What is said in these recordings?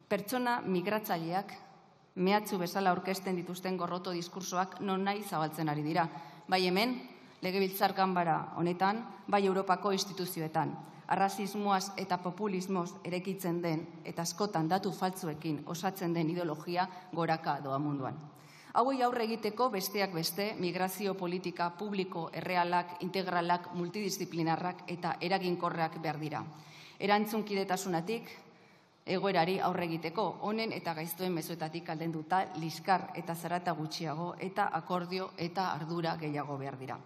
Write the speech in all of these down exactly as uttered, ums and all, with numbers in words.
Pertsona migratzaileak mehatxu bezala aurkezten dituzten gorroto diskursoak non nahi zabaltzen ari dira. Bai hemen, Legebiltzar Ganbara honetan, bai Europako instituzioetan. Arrazismoaz eta populismoz erekitzen den eta askotan datu faltzuekin osatzen den ideologia goraka doa munduan. Hauei aurre egiteko besteak beste migrazio politika publiko errealak, integralak, multidisciplinarrak eta eraginkorrak behar dira. Erantzunkidetasunatik egoerari aurre egiteko honen eta gaiztoen mezuetatik aldenduta liskar eta zarata gutxiago eta akordio eta ardura gehiago behar dira.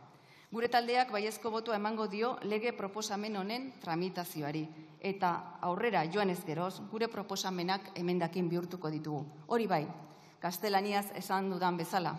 Gure taldeak baiezko botoa emango dio lege proposamen honen tramitazioari eta aurrera joan ez geroz gure proposamenak emendakin bihurtuko ditugu. Hori bai, gaztelaniaz esan dudan bezala.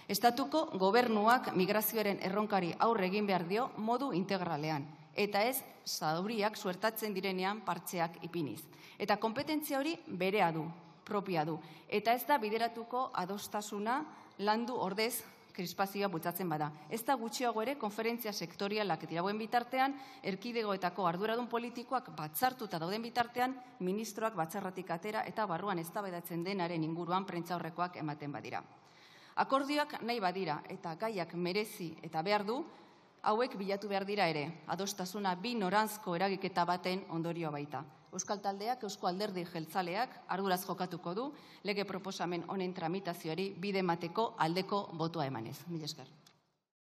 Estatuko gobernuak migrazioaren erronkari aurre egin behar dio modu integralean eta ez zauriak suertatzen direnean partxeak ipiniz. Eta kompetentzia hori berea du, propia du. Eta ez da bideratuko adostasuna landu ordez krispazioa bultzatzen bada. Ez da gutxiago ere konferentzia sektorialak dirauen bitartean, erkidegoetako arduradun politikoak batzartuta dauden bitartean, ministroak batzarratik atera eta barruan eztabaidatzen denaren inguruan prentsaurrekoak ematen badira. Akordioak nahi badira eta gaiak merezi eta behar du, hauek bilatu behar dira ere, adostasuna bi noranzko eragiketa baten ondorioa baita. Euskal Taldeak, Eusko Alderdi Jeltzaleak arduraz jokatuko du lege proposamen honen tramitazioari bide emateko aldeko botoa emanez. Mila esker.